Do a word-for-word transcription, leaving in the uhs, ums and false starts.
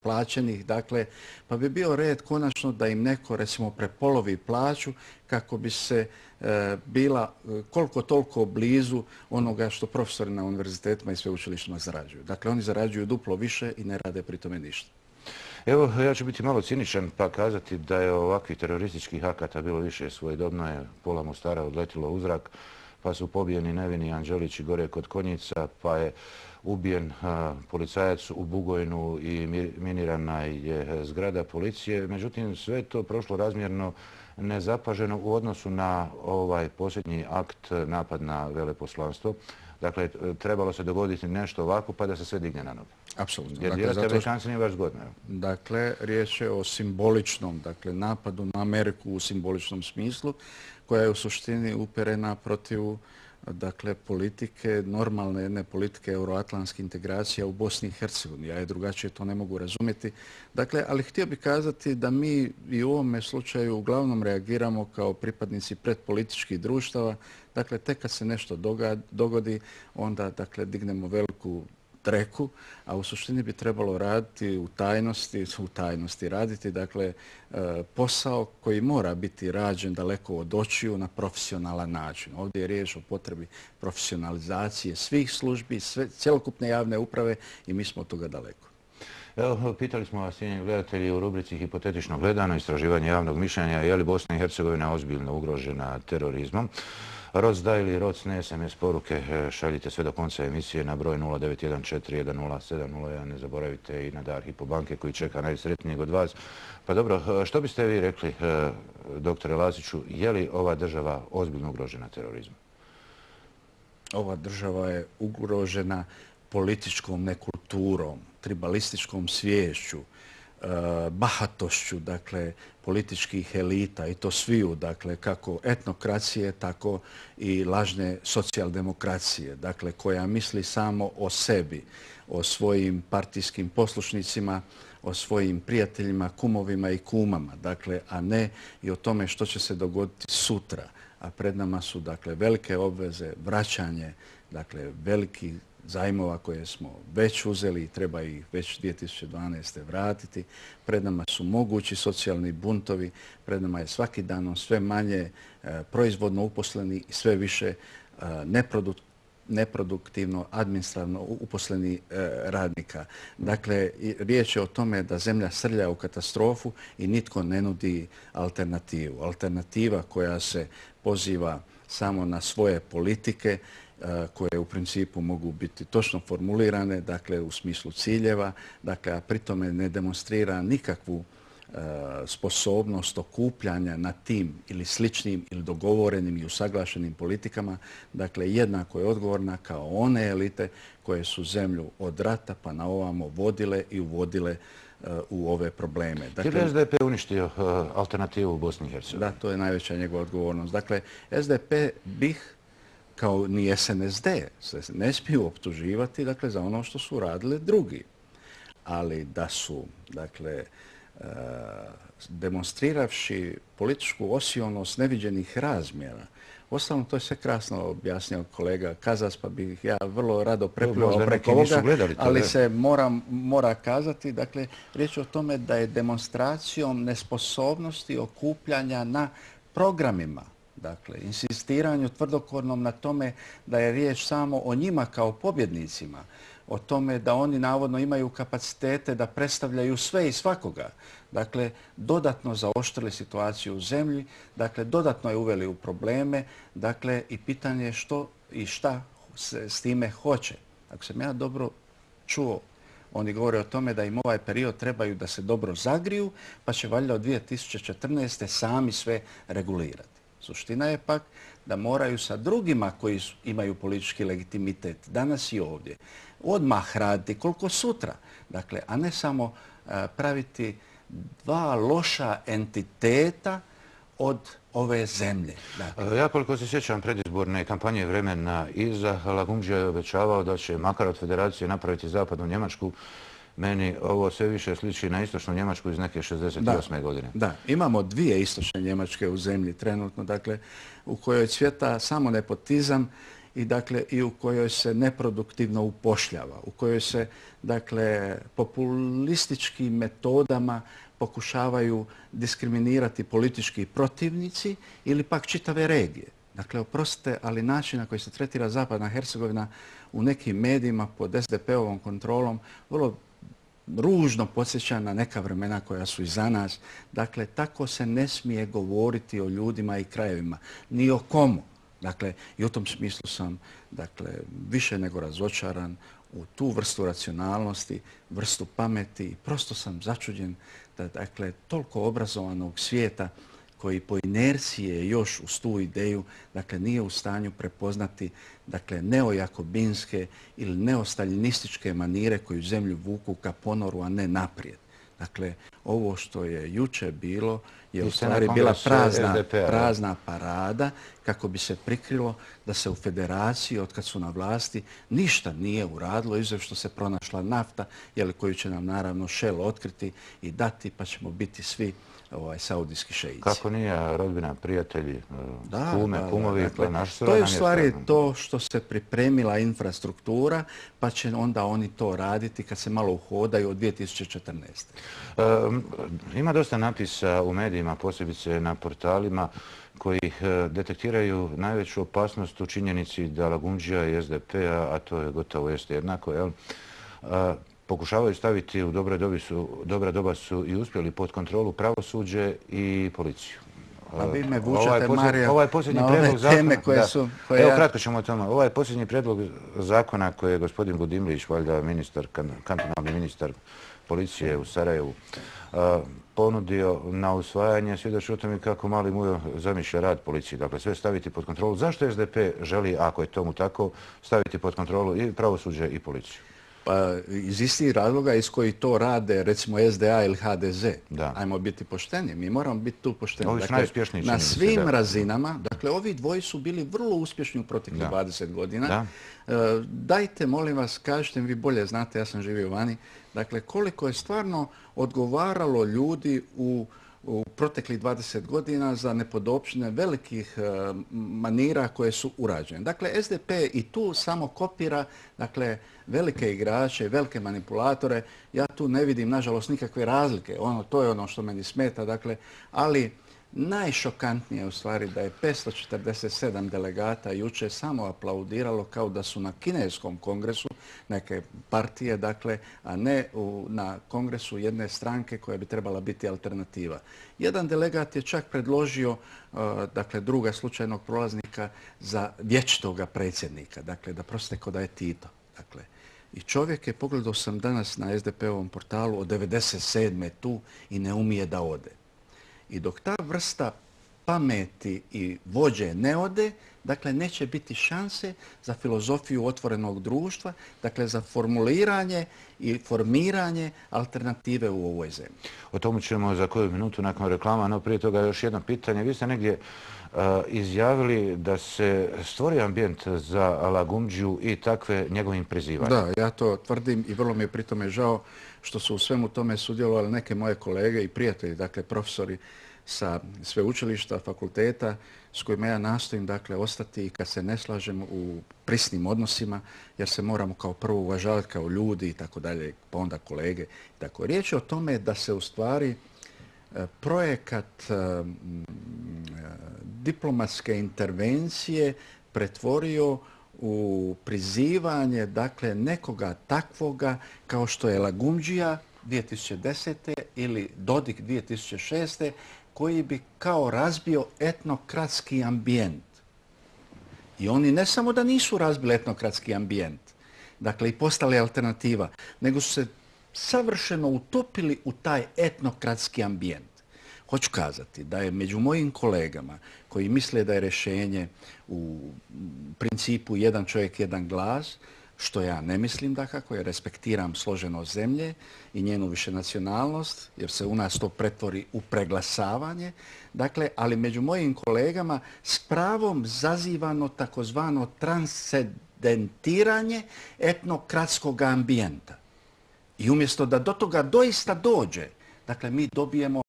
plaćenih, dakle, pa bi bio red konačno da im neko, recimo, prepolovi plaću kako bi se e, bila koliko toliko blizu onoga što profesori na univerzitetima i sveučilištima zarađuju. Dakle, oni zarađuju duplo više i ne rade pri tome ništa. Evo, ja ću biti malo ciničan pa kazati da je ovakvih terorističkih akata bilo više. Svojedobno je pola Mostara odletilo u zrak, pa su pobijeni nevini Anđelići gore kod Konjica, pa je ubijen a, policajac u Bugojnu i minirana je zgrada policije. Međutim, sve to prošlo razmjerno nezapaženo u odnosu na ovaj posljednji akt, napad na veleposlanstvo. Dakle, trebalo se dogoditi nešto ovako pa da se sve digne na noge. Apsolutno. Jer dakle, zato... Amerikanci nije baš zgodno. Dakle, riječ je o simboličnom, dakle, napadu na Ameriku u simboličnom smislu, koja je u suštini uperena protiv, dakle, politike, normalne jedne politike euroatlantske integracije u Bosni i Hercegovini. Ja je drugačije to ne mogu razumjeti. Dakle, ali htio bih kazati da mi i u ovome slučaju uglavnom reagiramo kao pripadnici predpolitičkih društava. Dakle, tek kad se nešto dogodi, onda, dakle, dignemo veliku treku, a u suštini bi trebalo raditi u tajnosti, u tajnosti raditi, dakle, posao koji mora biti rađen daleko od očiju na profesionalan način. Ovdje je riječ o potrebi profesionalizacije svih službi, sve, cjelokupne javne uprave i mi smo od toga daleko. Evo, pitali smo vas, cijenjeni gledatelji, u rubrici Hipotetično gledano, istraživanje javnog mišljenja, je li Bosna i Hercegovina ozbiljno ugrožena terorizmom? Roc da ili roc ne, es em es poruke šaljite sve do konca emisije na broj nula devet jedan četiri jedan nula sedam nula jedan. Ne zaboravite i na dar Hypo banke koji čeka najsretnijeg od vas. Pa dobro, što biste vi rekli, doktore Laziću, je li ova država ozbiljno ugrožena terorizmom? Ova država je ugrožena političkom nekulturom, tribalističkom sviješću, bahatošću, dakle, političkih elita i to sviju, dakle, kako etnokracije, tako i lažne socijaldemokracije, dakle, koja misli samo o sebi, o svojim partijskim poslušnicima, o svojim prijateljima, kumovima i kumama, dakle, a ne i o tome što će se dogoditi sutra. A pred nama su, dakle, velike obveze, vraćanje, dakle, velikih zajmova koje smo već uzeli i treba ih već dvije tisuće dvanaeste. vratiti. Pred nama su mogući socijalni buntovi, pred nama je svaki dan sve manje e, proizvodno uposleni i sve više e, neproduktivno neproduktivno, administrativno uposleni e, radnika. Dakle, riječ je o tome da zemlja srlja u katastrofu i nitko ne nudi alternativu. Alternativa koja se poziva samo na svoje politike, koje u principu mogu biti točno formulirane, dakle, u smislu ciljeva, dakle, a pritome ne demonstrira nikakvu sposobnost okupljanja na tim ili sličnim ili dogovorenim i usaglašenim politikama, dakle, jednako je odgovorna kao one elite koje su zemlju od rata pa na ovamo vodile i uvodile u ove probleme. Dakle, je li es de pe uništio alternativu u Bosni i Hercegovini? Da, to je najveća njegova odgovornost. Dakle, es de pe bih kao ni es en es de se ne smiju optuživati, dakle, za ono što su radili drugi. Ali da su, dakle, demonstriravši političku osionost neviđenih razmjera. Ostalom, to je sve krasno objasnio kolega Kazas, pa bih ja vrlo rado prepljuvao preko ovoga, ali se mora, mora kazati, dakle, riječ je o tome da je demonstracijom nesposobnosti okupljanja na programima, dakle, insistiranju tvrdokornom na tome da je riječ samo o njima kao pobjednicima, o tome da oni navodno imaju kapacitete da predstavljaju sve i svakoga. Dakle, dodatno zaoštrili situaciju u zemlji, dakle, dodatno je uveli u probleme, dakle, i pitanje je što i šta se s time hoće. Ako sam ja dobro čuo, oni govore o tome da im ovaj period trebaju da se dobro zagriju, pa će valjda od dvije tisuće četrnaeste. sami sve regulirati. Suština je pak da moraju sa drugima koji su, imaju politički legitimitet danas i ovdje odmah raditi koliko sutra. Dakle, a ne samo uh, praviti dva loša entiteta od ove zemlje. Dakle. Ja koliko se sjećam predizborne kampanje vremena iza, Lagumdžija je obećavao da će makar od federacije napraviti zapadnu Njemačku. Meni ovo sve više sliči na istočnu Njemačku iz neke šezdeset osme. godine. Da, imamo dvije istočne Njemačke u zemlji trenutno, dakle, u kojoj cvjeta samo nepotizam i, dakle, i u kojoj se neproduktivno upošljava, u kojoj se dakle, populističkim metodama pokušavaju diskriminirati politički protivnici ili pak čitave regije. Dakle, oprostite, ali način na koji se tretira Zapadna Hercegovina u nekim medijima pod es de pe ovom kontrolom vrlo ružno podsjeća na neka vremena koja su iza nas. Dakle, tako se ne smije govoriti o ljudima i krajevima, ni o komu. Dakle, i u tom smislu sam dakle, više nego razočaran u tu vrstu racionalnosti, vrstu pameti. Prosto sam začuđen da dakle, toliko obrazovanog svijeta koji po inercije još uz tu ideju dakle, nije u stanju prepoznati dakle, neojakobinske ili neostaljinističke manire koju zemlju vuku ka ponoru, a ne naprijed. Dakle, ovo što je juče bilo je u stvari bila prazna, prazna parada kako bi se prikrilo da se u federaciji, od kad su na vlasti, ništa nije uradilo, izuzev što se pronašla nafta, jel, koju će nam naravno Shell otkriti i dati, pa ćemo biti svi ovaj, saudijski šeici. Kako nije rodbina, prijatelji, da, kume, da, kumovi, dakle, naš to je u stvari to što se pripremila infrastruktura, pa će onda oni to raditi kad se malo uhodaju od dvije tisuće četrnaeste. E, ima dosta napisa u medijima, posebice na portalima, koji detektiraju najveću opasnost u činjenici da Lagundžija i es de pe, a to je gotovo jeste jednako, jel? A, pokušavaju staviti u dobre dobi su, dobra doba su i uspjeli pod kontrolu pravosuđe i policiju. A vi me vučete, ovaj Mario, ovaj posljednji na ove zakona, teme koje da, su... Koje evo, ja... kratko ćemo o tome. Ovaj posljednji predlog zakona koji je gospodin Budimlić, valjda ministar, kantonalni ministar policije u Sarajevu, a, ponudio na usvajanje, svjedoči o tome kako mali Mujo zamišlja rad policije. Dakle, sve staviti pod kontrolu. Zašto es de pe želi, ako je tomu tako, staviti pod kontrolu i pravosuđe i policiju? Pa, iz istih razloga iz koji to rade recimo es de a ili ha de ze. Da. Ajmo biti pošteni, mi moramo biti tu pošteni. Ovi su dakle, najuspješniji, na svim se, da. razinama, dakle ovi dvoji su bili vrlo uspješni u proteklih da. dvadeset godina. Da. E, dajte, molim vas, kažite mi, vi bolje znate, ja sam živio vani, dakle koliko je stvarno odgovaralo ljudi u u proteklih dvadeset godina za nepodopštine velikih e, manira koje su urađene. Dakle, es de pe i tu samo kopira dakle, velike igrače, velike manipulatore. Ja tu ne vidim, nažalost, nikakve razlike. Ono, to je ono što meni smeta. Dakle, ali najšokantnije je u stvari da je petsto četrdeset sedam delegata juče samo aplaudiralo kao da su na kineskom kongresu neke partije, dakle, a ne u, na kongresu jedne stranke koja bi trebala biti alternativa. Jedan delegat je čak predložio uh, dakle, druga slučajnog prolaznika za vječitoga predsjednika, dakle, da prostite ko da je Tito. Dakle, i čovjek je, pogledao sam danas na es de pe ovom portalu, od devedeset sedme tu i ne umije da ode. I dok ta vrsta pameti i vođe ne ode, dakle, neće biti šanse za filozofiju otvorenog društva, dakle, za formuliranje i formiranje alternative u ovoj zemlji. O tomu ćemo za koju minutu nakon reklama, no prije toga još jedno pitanje. Vi ste negdje uh, izjavili da se stvori ambijent za Lagundžiju i takve njegovim prizivanjem. Da, ja to tvrdim i vrlo mi je pritome žao što su u svemu tome sudjelovali neke moje kolege i prijatelji, dakle profesori sa sveučilišta, fakulteta, s kojima ja nastojim dakle, ostati i kad se ne slažem u prisnim odnosima, jer se moramo kao prvo uvažavati kao ljudi i tako dalje, pa onda kolege. Tako, riječ je o tome da se u stvari projekat diplomatske intervencije pretvorio u prizivanje dakle, nekoga takvoga kao što je Lagundžija dvije tisuće desete ili Dodik dvije tisuće šeste koji bi kao razbio etnokratski ambijent. I oni ne samo da nisu razbili etnokratski ambijent, dakle i postali alternativa, nego su se savršeno utopili u taj etnokratski ambijent. Hoću kazati da je među mojim kolegama koji misle da je rješenje u principu jedan čovjek, jedan glas, što ja ne mislim da kako, jer respektiram složenost zemlje i njenu višenacionalnost, jer se u nas to pretvori u preglasavanje. Dakle, ali među mojim kolegama s pravom zazivano takozvano transcendentiranje etnokratskog ambijenta. I umjesto da do toga doista dođe, dakle, mi dobijemo